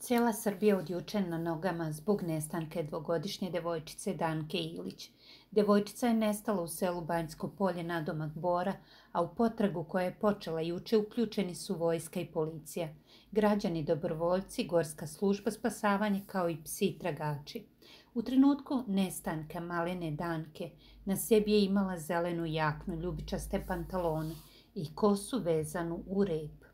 Cijela Srbija od juče na nogama zbog nestanka dvogodišnje devojčice Danke Ilić. Devojčica je nestala u selu Banjsko Polje nadomak Bora, a u potragu koja je počela juče uključeni su vojska i policija, građani dobrovoljci, gorska služba spasavanja kao i psi tragači. U trenutku nestanka malene Danke na sebi je imala zelenu jaknu, ljubičaste pantalone i kosu vezanu u rep.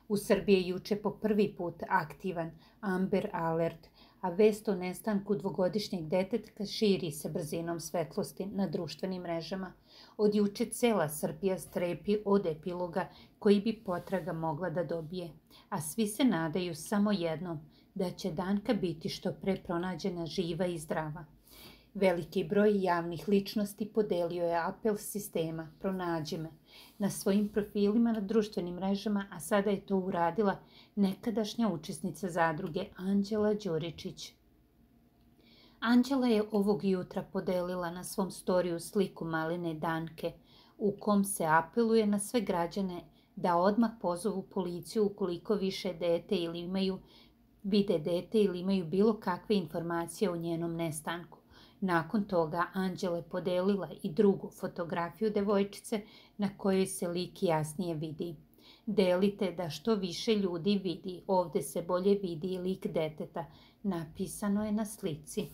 U Srbiji je juče po prvi put aktivan Amber Alert, a vest o nestanku dvogodišnjeg deteta širi se brzinom svetlosti na društvenim mrežama. Od juče cela Srbija strepi od epiloga koji bi potraga mogla da dobije, a svi se nadaju samo jednom, da će Danka biti što pre pronađena živa i zdrava. Veliki broj javnih ličnosti podelio je apel sistema "Pronađi me" na svojim profilima na društvenim mrežama, a sada je to uradila nekadašnja učesnica zadruge Anđela Đuričić. Anđela je ovog jutra podelila na svom storiju sliku malene Danke, u kom se apeluje na sve građane da odmah pozovu policiju ukoliko vide dete ili imaju bilo kakve informacije o njenom nestanku. Nakon toga Anđela je podelila i drugu fotografiju devojčice na kojoj se lik jasnije vidi. Delite da što više ljudi vidi, ovde se bolje vidi i lik deteta, napisano je na slici.